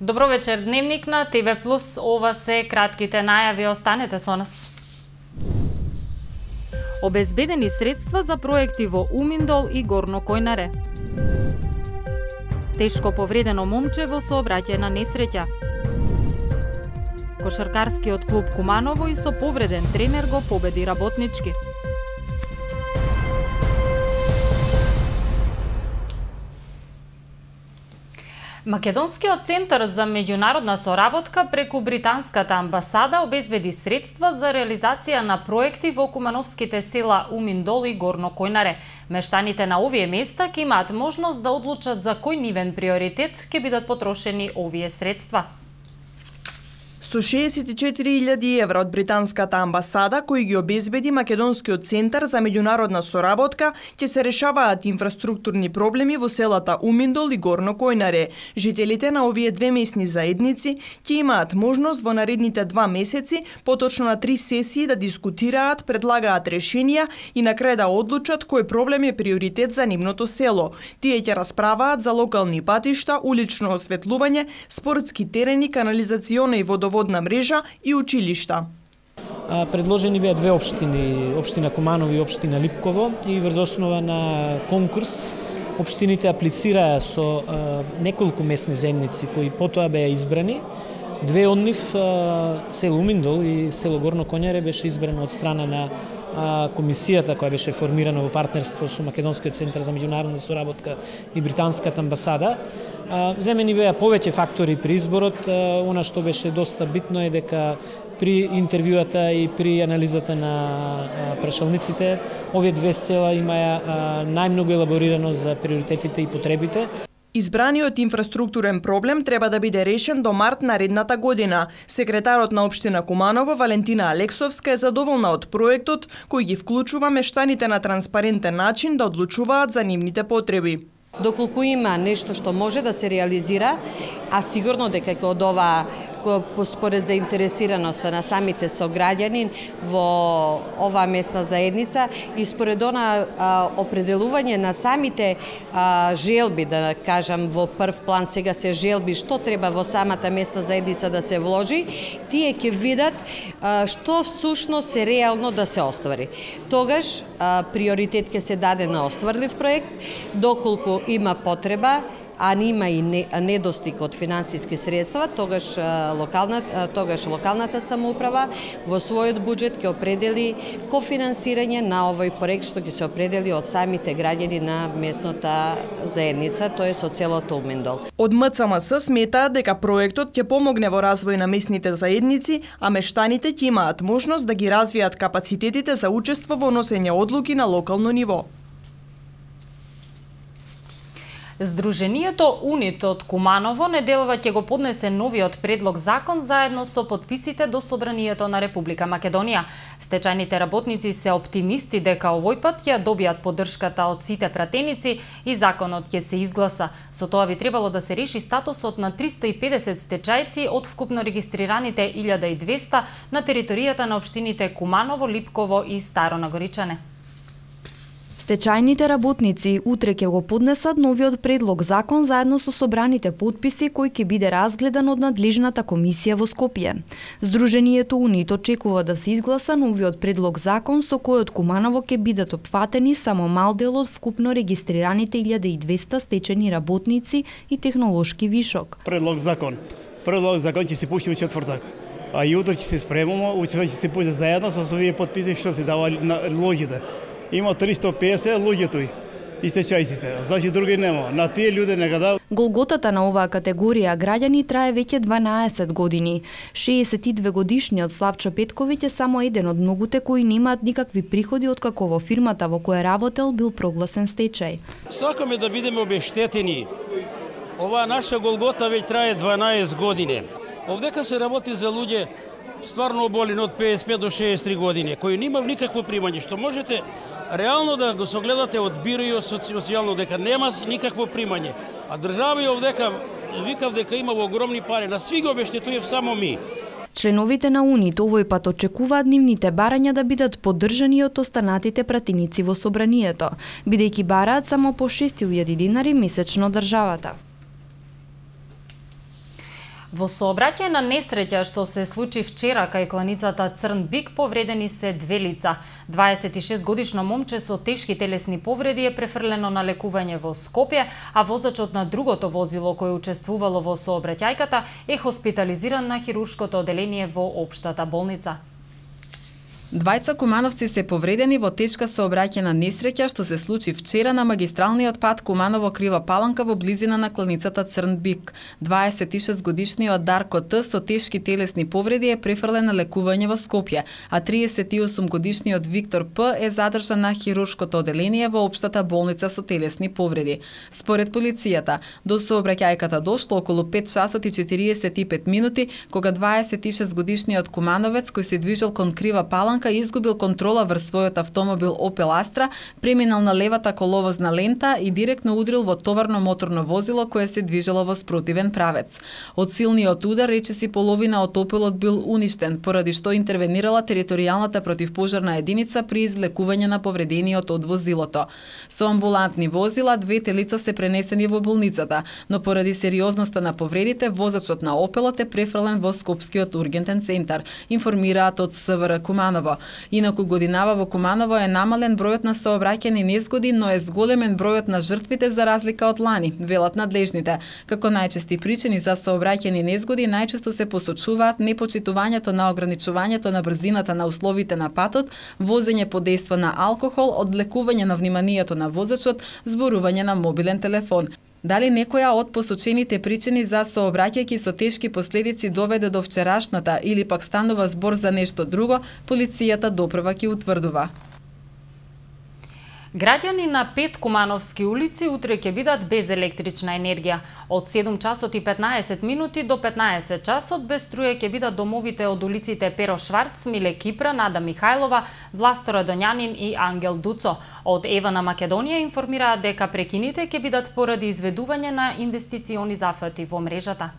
Добро вечер, Дневник на ТВ+. Ова се кратките најави, останете со нас. Обезбедени средства за проекти во Уминдол и Горно Којнаре. Тешко повредено момче во сообраќајна несреќа. Кошаркарскиот клуб Куманово и со повреден тренер го победи Работнички. Македонскиот центар за меѓународна соработка преку британската амбасада обезбеди средства за реализација на проекти во кумановските села Уминдол и Горно Којнаре. Мештаните на овие места ќе имаат можност да одлучат за кој нивен приоритет ќе бидат потрошени овие средства. Со 64.000 евра од британската амбасада, кои ги обезбеди Македонскиот центар за меѓународна соработка, ќе се решаваат инфраструктурни проблеми во селата Уминдол и Горно Којнаре. Жителите на овие две местни заедници ќе имаат можност во наредните 2 месеци, поточно на 3 сесии, да дискутираат, предлагаат решенија и на крај да одлучат кој проблем е приоритет за нивното село. Тие ќе расправаат за локални патишта, улично осветлување, спортски терени, канализациона и водоводна мрежа и училишта. Предложени беа две општини, општина Куманово и општина Липково, и врз основа на конкурс општините аплицираа со неколку месни заедници кои потоа беа избрани. Две од нив, село Уминдол и село Горно Којнаре, беше избрано од страна на комисијата која беше формирана во партнерство со Македонскиот центар за меѓународна соработка и британската амбасада. Земени беа повеќе фактори при изборот. Она што беше доста битно е дека при интервјуата и при анализата на прашалниците, овие две села имаја најмногу елаборирано за приоритетите и потребите. Избраниот инфраструктурен проблем треба да биде решен до март наредната година. Секретарот на општина Куманово, Валентина Алексовска, е задоволна од проектот, кој ги вклучува мештаните на транспарентен начин да одлучуваат за нивните потреби. Доколку има нешто што може да се реализира, а сигурно дека од ова според заинтересираноста на самите сограѓани во оваа местна заедница и според она определување на самите желби, да кажам во прв план сега се желби што треба во самата местна заедница да се вложи, тие ќе видат што всушност е реално да се оствари. Тогаш приоритет ќе се даде на остварлив проект, доколку има потреба, а нема и недостиг од финансиски средства, тогаш локалната самоуправа во својот буџет ќе определи кофинансирање на овој проект што ќе се определи од самите граѓани на местната заедница, тоест од селото Уминдол. Од МЦМС сметаат дека проектот ќе помогне во развој на местните заедници, а мештаните ќе имаат можност да ги развијат капацитетите за учество во носење одлуки на локално ниво. Сдруженијето УНИТ од Куманово неделва ќе го поднесе новиот предлог закон заедно со подписите до Собранието на Република Македонија. Стечајните работници се оптимисти дека овој пат ја добијат поддршката од сите пратеници и законот ќе се изгласа. Со тоа би требало да се реши статусот на 350 стечајци од вкупно регистрираните 1200 на територијата на општините Куманово, Липково и Старо Нагоричане. Стечајните работници утре ќе го поднесат новиот предлог закон заедно со собраните потписи кој ќе биде разгледан од надлежната комисија во Скопје. Сдруженијето УНИТ очекува да се изгласа новиот предлог закон со кој од Куманово ќе бидат опфатени само мал дел од вкупно регистрираните 1200 стечајни работници и технолошки вишок. Предлог закон ќе се пушти во четвртак. А и утре ќе се спремаме, утре ќе се пушти заедно со овие потписи што се давали на луѓето. Има 350 луѓето и стечајците, значи други нема. На тие луѓе нека да. Голготата на оваа категорија граѓани трае веќе 12 години. 62 годишниот Славчо Петковиќ е само еден од многуте кои немаат никакви приходи откако во фирмата во која работел бил прогласен стечај. Сакаме да бидеме обештетени. Оваа наша голгота веќе трае 12 години. Овдека се работи за луѓе стварно оболени од 55 до 63 години, кои немав никакво примање, што можете реално да го согледате од биро и социјално дека нема никакво примање. А држава и овдека викав дека има огромни пари, на сви го обештетујев само ми. Членовите на УНИТ овој пат очекуваат нивните барања да бидат поддржани од останатите пратеници во собранието, бидејќи бараат само по 6.000 динари месечно државата. Во сообраќај на несреќа што се случи вчера кај кланицата Црн Бик повредени се две лица. 26-годишно момче со тешки телесни повреди е префрлено на лекување во Скопје, а возачот на другото возило кој учествувало во сообраќајката е хоспитализиран на хируршкото оделение во општата болница. Двајца кумановци се повредени во тешка сообраќајна несреќа што се случи вчера на магистралниот пат Куманово Крива Паланка во близина на кланицата Црн Бик. 26-годишниот Дарко Т со тешки телесни повреди е префрлен на лекување во Скопје, а 38-годишниот Виктор П е задржан на хируршкото оделение во општата болница со телесни повреди. Според полицијата, до сообраќајката дошло околу 5 часот и 45 минути, кога 26-годишниот кумановец кој се движел кон Крива Паланка изгубил контрола врз својот автомобил Opel Astra, преминал на левата коловозна лента и директно удрил во товарно моторно возило кое се движело во спротивен правец. Од силниот удар речиси половина од Opelот бил уништен, поради што интервенирала територијалната противпожарна единица при извлекување на повредениот од возилото. Со амбулантни возила двете лица се пренесени во болницата, но поради сериозноста на повредите возачот на Opelот е префрлен во Скопскиот ургентен центар, информираат од СВР Куманово. Инаку годинава во Куманово е намален бројот на сообраќајни незгоди, но е зголемен бројот на жртвите за разлика од лани, велат надлежните. Како најчести причини за сообраќајни незгоди најчесто се посочуваат непочитувањето на ограничувањето на брзината на условите на патот, возење под дејство на алкохол, одвлекување на вниманието на возачот, зборување на мобилен телефон. Дали некоја од посочените причини за сообраќајки со тешки последици доведе до вчерашната или пак станува збор за нешто друго, полицијата допрва ќе утврдува. Граѓани на 5 кумановски улици утре ќе бидат без електрична енергија. Од 7 часот и 15 минути до 15 часот без струја ќе бидат домовите од улиците Перо Шварц, Миле Кипра, Нада Михајлова, Власто Радоњанин и Ангел Дуцо. Од Ева на Македонија информираат дека прекините ќе бидат поради изведување на инвестициони зафати во мрежата.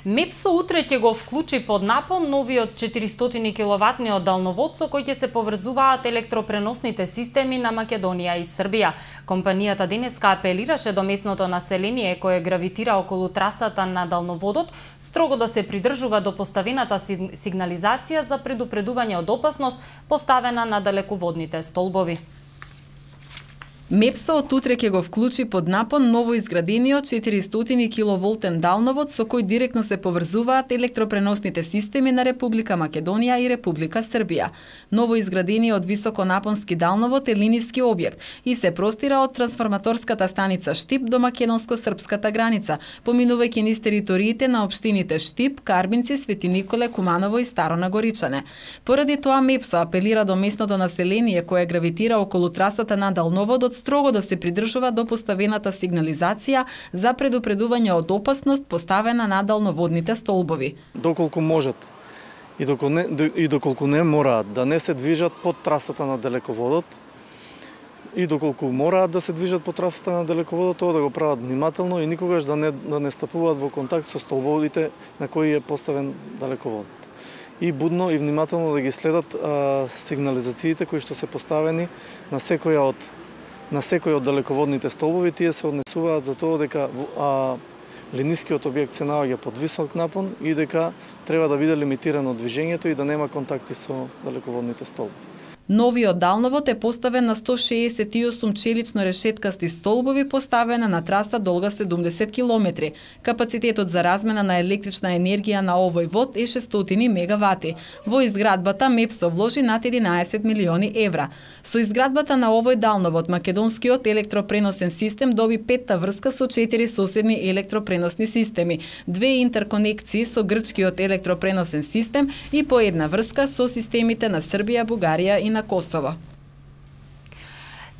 МЕПСО утре ќе го вклучи под напон новиот 400 киловатниот далновод со кој ќе се поврзуваат електропреносните системи на Македонија и Србија. Компанијата денеска апелираше до местното население кое гравитира околу трасата на далноводот строго да се придржува до поставената сигнализација за предупредување од опасност поставена на далеководните столбови. МЕПСО од утре ќе го вклучи под напон ново изградениот 400 киловолтен далновод со кој директно се поврзуваат електропреносните системи на Република Македонија и Република Србија. Ново изградениот високонапонски далновод е линиски објект и се простира од трансформаторската станица Штип до македонско-српската граница, поминувајќи низ териториите на општините Штип, Карбинци, Свети Николе, Куманово и Старо Нагоричане. Поради тоа МЕПСО апелира до местното население кое гравитира околу трасата на далноводот строго да се придржува до поставената сигнализација за предупредување од опасност поставена на далноводните столбови. Доколку можат и доколку не мораат да не се движат под трасата на далеководот и доколку мораат да се движат под трасата на далеководот, тоа да го прават внимателно и никогаш да не стапуваат во контакт со столбовите на кои е поставен далеководот. И будно и внимателно да ги следат сигнализациите кои што се поставени на секој од далеководните столбови. Тие се однесуваат за тоа дека линискиот објект се наоѓа под висок напон и дека треба да биде лимитирано движењето и да нема контакти со далеководните столбови. Новиот далновод е поставен на 168 челично решеткасти столбови поставена на траса долга 70 километри. Капацитетот за размена на електрична енергија на овој вод е 600 мегавати. Во изградбата МЕПСО вложи над 11 милиони евра. Со изградбата на овој далновод македонскиот електропреносен систем доби 5-та врска со 4 соседни електропреносни системи, 2 интерконекции со грчкиот електропреносен систем и по една врска со системите на Србија, Бугарија и на Косово.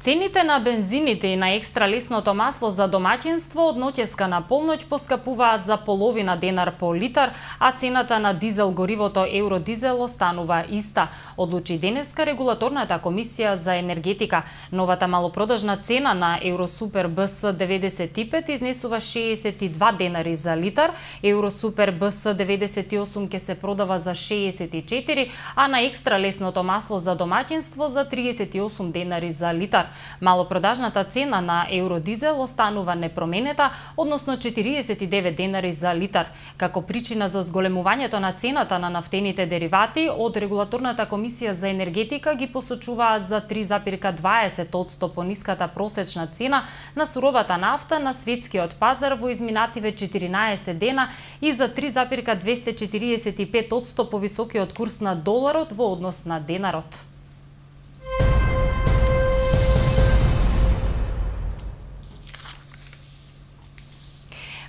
Цените на бензините и на екстра лесното масло за домаќинство од ноќеска на полноќ поскапуваат за половина денар по литар, а цената на дизел горивото Евродизел останува иста, одлучи денеска регулаторната комисија за енергетика. Новата малопродажна цена на Евросупер БС 95 изнесува 62 денари за литар, Евросупер БС 98 ќе се продава за 64, а на екстра лесното масло за домаќинство за 38 денари за литар. литар. Малопродажната цена на евродизел останува непроменета, односно 49 денари за литар. Како причина за зголемувањето на цената на нафтените деривати, од Регулаторната комисија за енергетика ги посочуваат за 3,20% пониската просечна цена на суровата нафта на светскиот пазар во изминативе 14 дена и за 3,245% повисокиот курс на доларот во однос на денарот.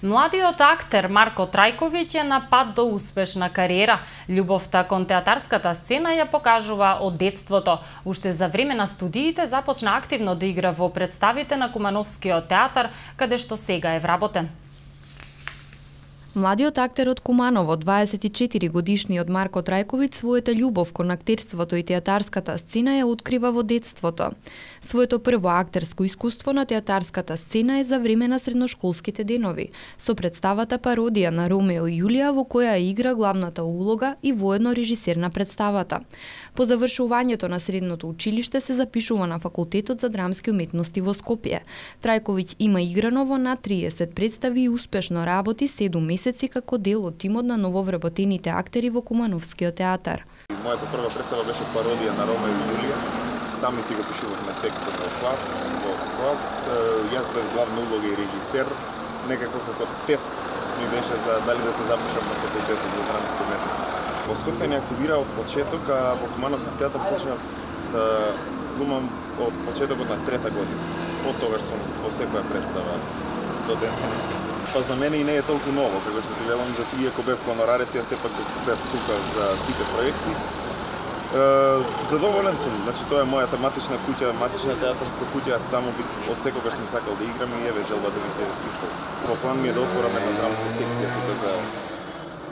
Младиот актер Марко Трајковиќ е на пат до успешна кариера. Љубовта кон театарската сцена ја покажува од детството. Уште за време на студиите започна активно да игра во представите на Кумановскиот театар, каде што сега е вработен. Младиот актер од Куманово, 24 годишниот Марко Трајковиќ, својата љубов кон актерството и театарската сцена ја открива во детството. Своето прво актерско искуство на театарската сцена е за време на средношколските денови, со представата пародија на Ромео и Јулија, во која игра главната улога и воедно режисер на представата. По завршувањето на средното училиште се запишува на Факултетот за драмски уметности во Скопје. Трајковиќ има играно во над 30 представи и успешно работи 7 месеци како дел од тимот на нововработените актери во Кумановскиот театар. Мојата прва представа беше пародија на Ромео и Јулија. Сами си го пишувавме текстот во клас. Јас бев главна улога и режисер. Некако како тест ми беше за дали да се запишам на Факултетот за драмски уметности. Во Скопје не активира од почеток, а во Кумановски театар почнав да глумам од почетокот на 3-та година. Од тогаш сум во секоја представа до ден денеска. Па за мене и не е толку ново, како што ти велам, да иако бев хонорарец, јас сепак бев тука за сите проекти. Задоволен сум, значи тоа е моја тематична куќа, матична театарска куќа, јас таму од секогаш сум сакал да играм и еве желбата ми се исполни. Во план ми е да отворам една драмска секција тука за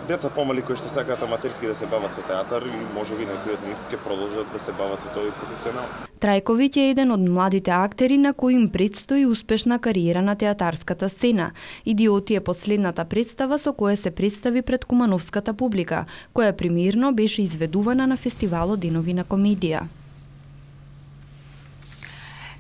деца помали кои што сакаат аматерски да се бават со театар и можеби некои од нив ќе продолжат да се бават со тоа и професионално. Трајковиќ е еден од младите актери на кои им предстои успешна кариера на театарската сцена. Идиоти е последната представа со која се представи пред кумановската публика, која премиерно беше изведувана на фестивалот Денови на комедија.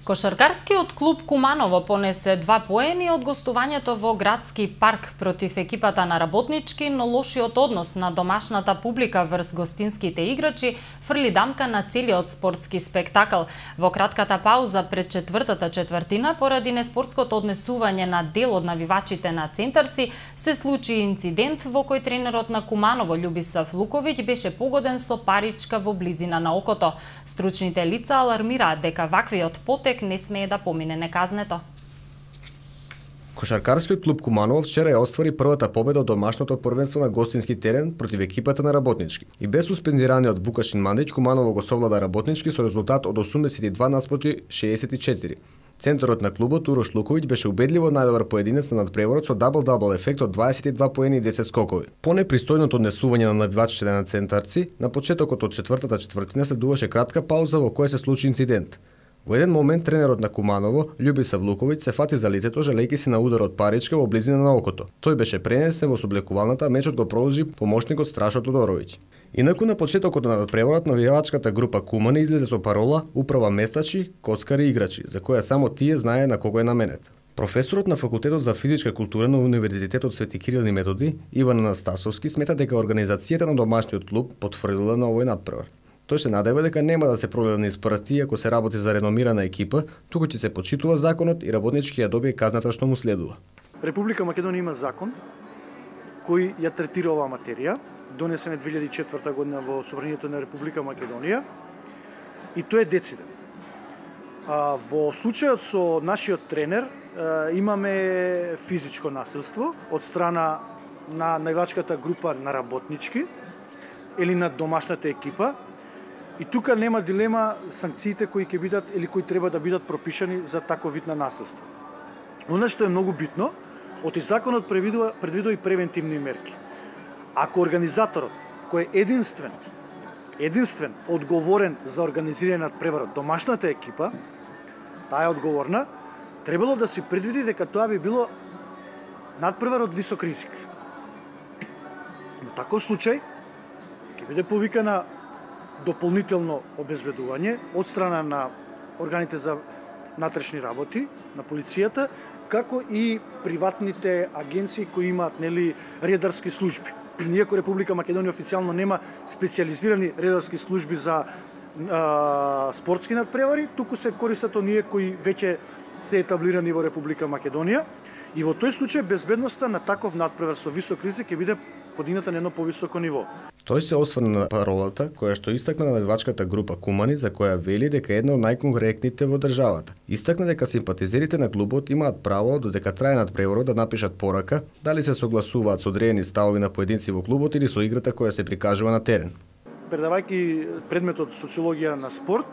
Кошаркарскиот клуб Куманово понесе 2 поени од гостувањето во градски парк против екипата на Работнички, но лошиот однос на домашната публика врз гостинските играчи фрли дамка на целиот спортски спектакл. Во кратката пауза пред четвртата четвртина, поради неспортското однесување на дел од навивачите на Центарци, се случи инцидент во кој тренерот на Куманово Љубисав Луковиќ беше погоден со паричка во близина на окото. Стручните лица алармираат дека ваквиот потек не смее да помине неказнето. Кошаркарскиот клуб Куманово вчера ја оствари првата победа од домашното првенство на гостински терен против екипата на Работнички. И без суспендираниот Вукашин Мандиќ, Куманово го совлада Работнички со резултат од 82-64. Центарот на клубот Урош Луковиќ беше убедливо најдобар поединец на надпреворот со дабл-дабл ефект од 22 поени и 10 скокови. По непристојното однесување на навивачите на Центарци, на почетокот од четвртата четвртина следуваше кратка пауза во која се случи инцидент. Во еден момент тренерот на Куманово, Љубисав Луковиќ, се фати за лицето, жалејќи се на удар од паричка во близина на окото. Тој беше пренесен во соблекувалната, мечот го продолжи помошникот Страшо Тодоровиќ. Инаку на почетокот на надпреворот навивачката група Кумани излезе со парола "Управа местачи, коцкари и играчи", за која само тие знае на кого е наменет. Професорот на Факултетот за физичка култура на Универзитетот Свети Кирил и Методи, Иван Анастасовски, смета дека организацијата на домашниот клуб потврдила на овој надпревар. Тој се надева дека нема да се прогледа низ прсти ако се работи за реномирана екипа, туку ќе се почитува законот и Работнички ја добие казната што му следува. Република Македонија има закон кој ја третира оваа материја, донесен е 2004 година во Собранието на Република Македонија и тој е дециден. Во случајот со нашиот тренер имаме физичко насилство од страна на навивачката група на Работнички или на домашната екипа. И тука нема дилема санкциите кои ќе бидат или кои треба да бидат пропишани за таков вид на насилство. Она што е многу битно, оти законот предвидува и превентивни мерки. Ако организаторот кој е единствен одговорен за организирање на надпреварот, домашната екипа, таа е одговорна, требало да се предвиди дека тоа би било надпревар од висок ризик. Но таков случај ќе биде повикана дополнително обезбедување од страна на органите за натрешни работи на полицијата, како и приватните агенции кои имаат редарски служби. Иако Република Македонија официјално нема специјализирани редарски служби за спортски надпревари, туку се користат оние кои веќе се етаблирани во Република Македонија. И во тој случај безбедноста на таков надпревар со висок ризик ќе биде подигната на едно повисоко ниво. Тој се осврна на паролата која што истакна навивачката група Кумани, за која вели дека е една од најконкурентните во државата. Истакна дека симпатизерите на клубот имаат право додека трае надпреварот да напишат порака, дали се согласуваат со одредени ставови на поединци во клубот или со играта која се прикажува на терен. Предавајќи предметот социологија на спорт,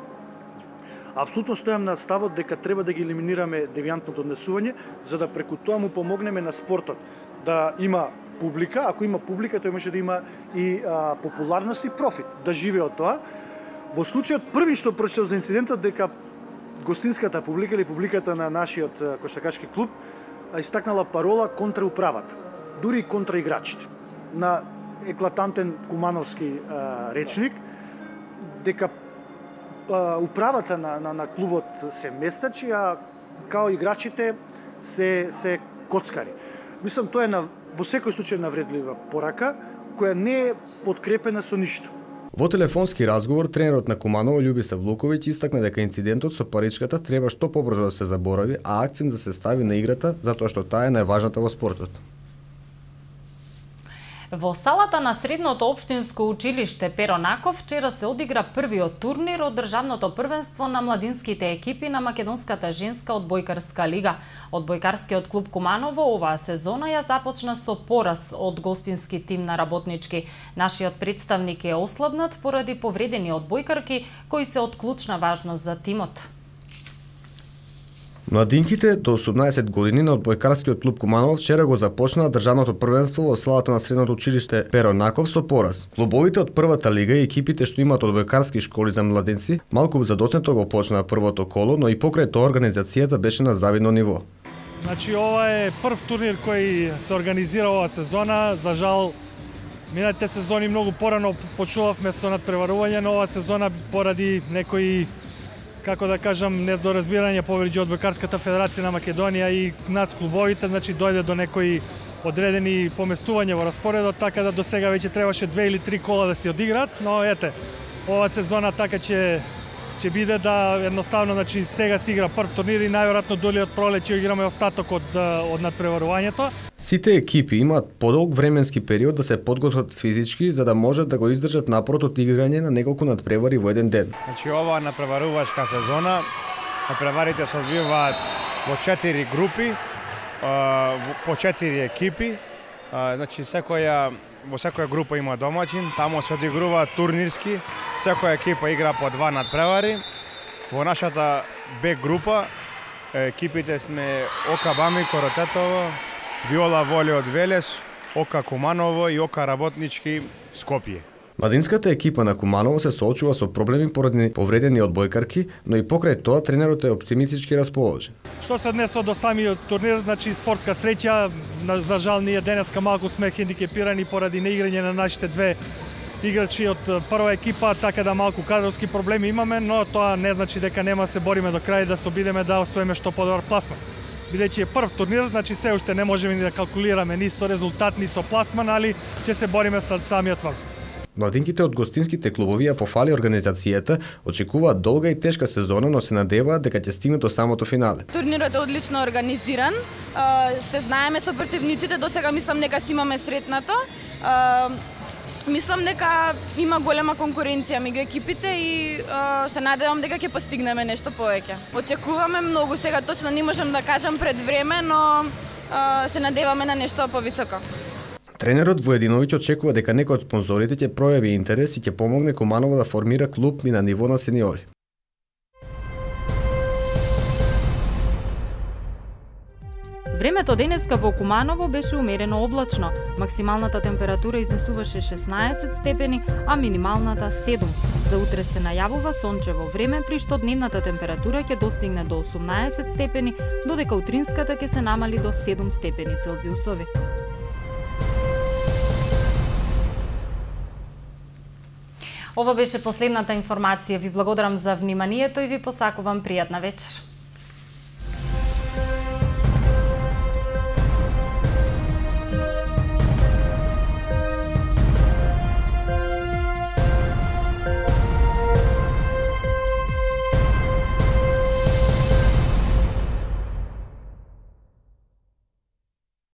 апсолутно стојам на ставот дека треба да ги елиминираме девијантното однесување, за да преку тоа му помогнеме на спортот да има публика. Ако има публика, тој може да има и популарност и профит, да живее од тоа. Во случајот први што прочитав за инцидентот дека гостинската публика или публиката на нашиот кошаркашки клуб истакнала парола контра управата, дури и контра играчите. На еклатантен кумановски речник, дека управата на клубот се местачи, а као играчите се коцкари. Мислам, тоа е во секој случај навредлива порака, која не е подкрепена со ништо. Во телефонски разговор, тренерот на Куманово Љубиса Влуковиќ истакна дека инцидентот со паричката треба што побрзо да се заборави, а акцент да се стави на играта, затоа што таа е најважната во спортот. Во салата на Средното општинско училиште Перо Наков вчера се одигра првиот турнир од државното првенство на младинските екипи на македонската женска одбојкарска лига. Одбојкарскиот клуб Куманово оваа сезона ја започна со пораз од гостински тим на работнички. Нашиот представник е ослабнат поради повредени одбојкарки кои се од клучна важност за тимот. Младинките до 18 години на одбојкарскиот клуб Куманово вчера го започнаа државното првенство во салата на Средното училиште Перо Наков со пораз. Клубовите од првата лига и екипите што имаат одбојкарски школи за младенци малку задоцнето го почнаа првото коло, но и покрај тоа организацијата беше на завидно ниво. Значи ова е прв турнир кој се организира оваа сезона. За жал минатите сезони многу порано почнувавме со надпреварување, но оваа сезона поради некои, како да кажам, нездоразбирање помеѓу Одбојкарската федерација на Македонија и нас клубовите, значи дојде до некои одредени поместувања во распоредот, така да до сега веќе требаше 2 или 3 кола да се одиграат, но ете, ова сезона така ќе биде да едноставно, значи сега се игра прв турнир и најверојатно доли од пролет ќе играме остаток од надпреварувањето. Сите екипи имаат подолг временски период да се подготват физички за да можат да го издржат напорот од играње на неколку надпревари во еден ден. Значи ова надпреварувачка сезона, надпреварите се одвиваат во 4 групи, по 4 екипи. Значи во секоја група има домаќин, таму се одигруваат турнирски, секоја екипа игра по 2 надпревари. Во нашата Б група екипите сме ОК Бами Коротетово, Виола Воле од Велес, ОК Куманово и ОК Работнички Скопје. Младинската екипа на Куманово се соочува со проблеми поради повредени одбојкарки, но и покрај тоа тренерот е оптимистички расположен. Што се однесува до самиот турнир, значи спортска среќа, за жал ние денеска малку сме хендикепирани поради неиграње на нашите две играчи од прва екипа, така да малку кадровски проблеми имаме, но тоа не значи дека нема се бориме до крај да се обидеме да освоиме што подобар пласман. Бидејќи е прв турнир, значи се уште не можеме ни да калкулираме ни со резултат, ни со пласман, али ќе се бориме со самиот врв. Младинките од гостинските клубови ја пофали организацијата, очекуваат долга и тешка сезона, но се надеваат дека ќе стигнат до самото финале. Турнирот е одлично организиран, се знаеме со противниците, досега мислам дека си имаме сретнато. Мислам дека има голема конкуренција меѓу екипите и се надевам дека ќе постигнеме нешто повеќе. Очекуваме многу, сега точно не можам да кажам пред време, но се надеваме на нешто повисоко. Тренерот Воединовиќ очекува дека некој од спонзорите ќе пројави интерес и ќе помогне Куманово да формира клуб и на ниво на сениори. Времето денеска во Куманово беше умерено облачно. Максималната температура изнесуваше 16 степени, а минималната 7. За утре се најавува сончево време, при што дневната температура ќе достигне до 18 степени, додека утринската ќе се намали до 7 степени Целзиусови. Ова беше последната информација. Ви благодарам за вниманието и ви посакувам пријатна вечер.